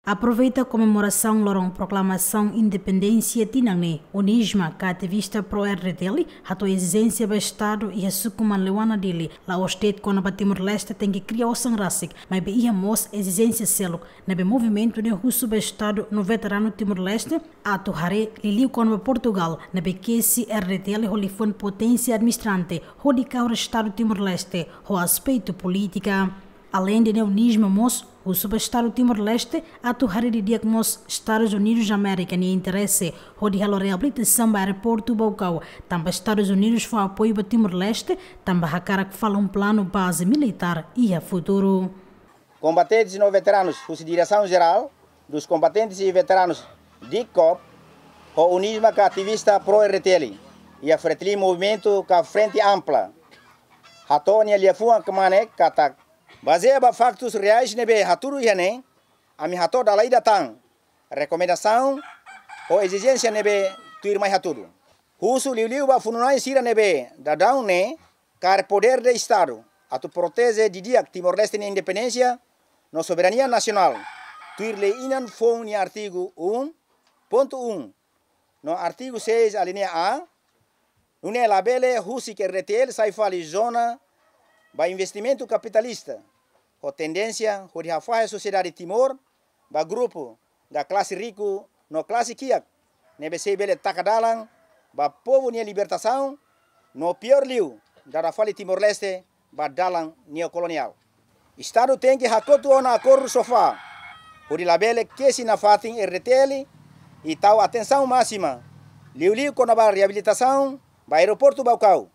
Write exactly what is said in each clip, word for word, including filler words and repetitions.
Aproveita komemorasaun loron proklamasaun independénsia tinan ne'e, UNISMA ka ativista pró-R D T L hato'o ezijénsia ba Estadu iha suku Manleuana, Dili, la'ós de'it kona-ba Timor-Leste tenke kria osan rasik, maibé iha mós ezijénsia seluk ne'ebé movimentu ne'e husu ba Estadu no veteranu Timor-Leste atu haree, liuliu kona-ba Portugal ne'ebé kesi R D T L ho liafuan poténsia administrante hodi kahur Estadu Timor-Leste ho aspetu polítika. Aleinde ne'e, UNISMA mós husu ba Estadu Timor-Leste atu haree didi'ak mós Estadus Unidus Amérika nia interese hodi halo reabilitasaun ba aeroportu Baucau, tanba Estadus Unidus fó apoiu ba Timor-Leste tanba hakarak falun planu baze militár iha futuru. Kombatentes no veteranus husi Diresaun Jerál dos Kombatentes e Veteranus, DICOV, ho UNISMA ka ativista pró-R D T L iha Fretilin, movimentu ka Frente Ampla, hato'o nia liafuan kmanek katak, bazeia ba faktus reais ne'ebé hatudu iha ne'e, ami hato'o dala ida tan rekomendasaun ho ezijénsia ne'ebé tuirmai hatudu. Husu liuliu ba funu-na'in sira ne'ebé daudaun ne'e kaer podér de Estadu atu proteje didi'ak Timor-Leste nia independénsia no soberania nasionál, tuir lei inan foun nia artigu um ponto um no artigu seis alínea A, nune'e labele husik R D T L sai fali zona ba investimentu kapitalista, ho tendénsia hodi hafahe sosiedade Timor ba grupu ka klase riku no klase kiak ne'ebé sei bele taka dalan ba povu nia libertasaun, no piór liu, dada fali Timor-Leste ba dalan neokoloniál. Estadu tenke hakotu ona akordu SOFA, hodi labele kesi nafatin R D T L, i tau atensaun másima liuliu kona-ba reabilitasaun ba aeroportu Baucau,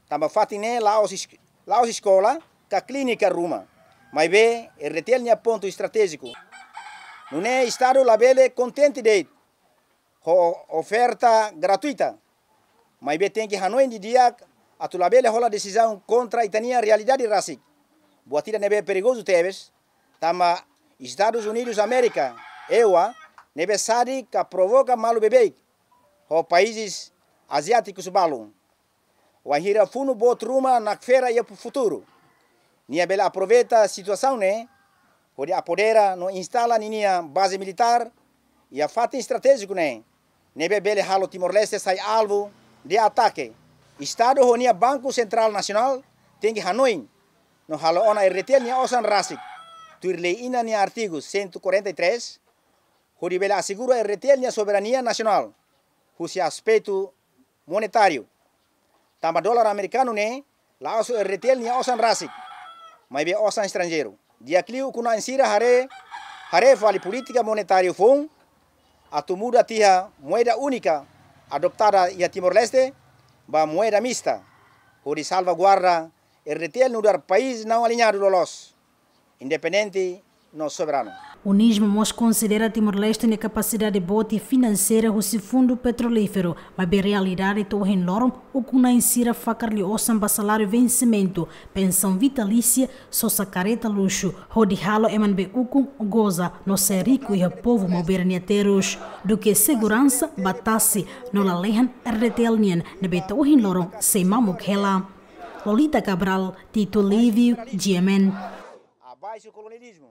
tanba fatin ne'e la'ós es-, la'ós eskola ka klínika ruma, maibé R D T L nia pontu estratéjiku. Nune'e Estadu labele kontente de'it ho oferta gratuita, maibé tenke hanoin didi'ak atu labele hola desizaun kontra ita-nia realidade rasik. Buat ida ne'ebé perigozu tebes, tanba Estadus Unidus Amérika, EUA, ne'ebé sadik ka provoka malu beibeik ho países aziátikus balun. Wainhira funu boot ruma nakfera iha futuru, nia bele aproveita situasaun ne'e hodi apodera no instala ninia baze militár iha fatin estratéjiku ne'e, ne'ebé bele halo Timor-Leste sai alvu de atake. Estadu ho nia Banku Sentrál Nasionál tenke hanoin no halo ona R D T L nia osan rasik, tuir lei inan nia artigu cento e quarenta e três, hodi bele asegura R D T L nia soberania nasionál husi aspetu monetáriu. Tanba dolar amerikanu ne'e la'ós R D T L nia osan rasik, maibé osan estranjeiru. Di'ak liu ukun-na'in sira haree, haree fali polítika monetáriu foun, atu muda tiha moeda únika adotada iha Timor-Leste ba moeda mista, hodi salvaguarda R D T L nu'udar país não aliñadu loloos, independente no soberanu. UNISMA mós konsidera Timor-Leste nia kapasidade boot i finanseira husi fundu petrolíferu, maibé realidade to'o ohin loron ukun-na'in sira fakar liu osan ba saláriu vensimentu, pensaun vitalísia, sosa kareta luxu, hodi halo ema ne'ebé ukun goza no sai riku iha povu maubere nia terus. Duké seguransa ba tasi no lalehan R D T L nian ne'ebé to'o ohin loron sei mamuk hela. Lolita Cabral, Tito Lívio, G M N. Abaixo o colonialismo.